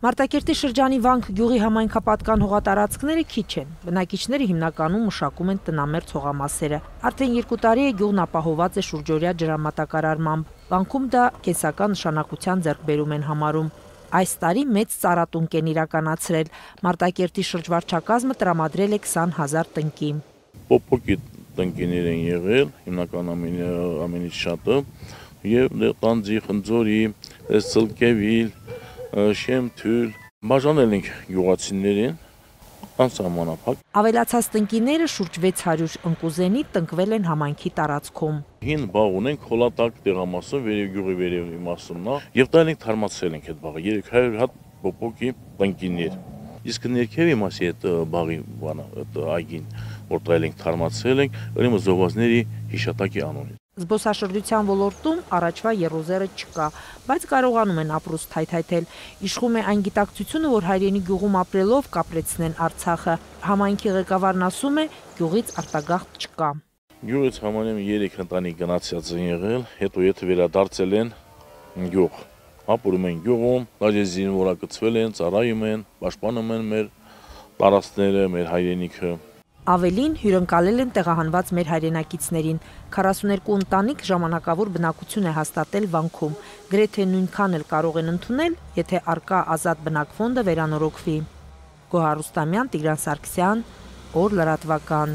Մարտակերտի շրջանի Վանք գյուղի համայնքապատկան հողատարածքները քիչ են։ Բնակիչները հիմնականում մշակում են տնամերձ հողամասերը։ Արդեն 2 տարի է գյուղն ապահոված է շուրջօրյա ջրամատակարարմամբ։ Վանքում դա կենսական նշանակության ձեռքբերում են համարում։ Այս տարի մեծ ծառատունկ են իրականացրել։ Մարտակերտի շրջվարչակազմը տրամադրել է 20,000 տնկի։ Պոպոկի տնկիներ են եղել, հիմնական ամենից շատը, եւ տանձի, խնձորի, սլկևիլ, շեմթյուլ, բաժանել ենք գյուղացիներին անսահմանափակ։ Ավելացած տնկիները շուրջ 600 ընկուզենի տնկվել են համայնքի տարածքում։ Հին բաղ ունենք խոլատակ տեղամասում, գյուղի վերևի մասում, եւ դա ենք թարմացրել ենք այդ բաղը 300 հատ պոպոկի տնկիներ։ Իսկ ներքևի մասի այդ բաղի այգին, որտեղ ենք թարմացրել ենք, ուրեմն զովազների հիշատակի անունից։ Զբոսաշրջության ոլորտում առաջվա եռոզերը չկա, բայց կարողանում են ապրուստ թայթայթել։ Իշխում է այն գիտակցությունը, որ հայրենի գյուղում ապրելով կապրեցնեն Արցախը։ Համայնքի ղեկավարն ասում է, գյուղից արտագաղթ չկա։ Գյուղից համարյա 3 ընտանիք գնացած են եղել, հետո եթե վերադարձել են գյուղ, ապրում են գյուղում, դաժե զինվորակցվել են, ծառայում են, պաշտպանում են մեր տարածքները, մեր հայրենիքը։ Ավելին հյուրընկալել են տեղահանված մեր հայրենակիցներին։ 42 ընտանիք ժամանակավոր բնակություն է հաստատել Վանքում։ Գրեթե նույնքան էլ կարող են ընդունել, եթե առկա ազատ բնակֆոնդը վերանորոգվի։ Գոհար Ռուստամյան, Տիգրան Սարգսյան, Օր լրատվական։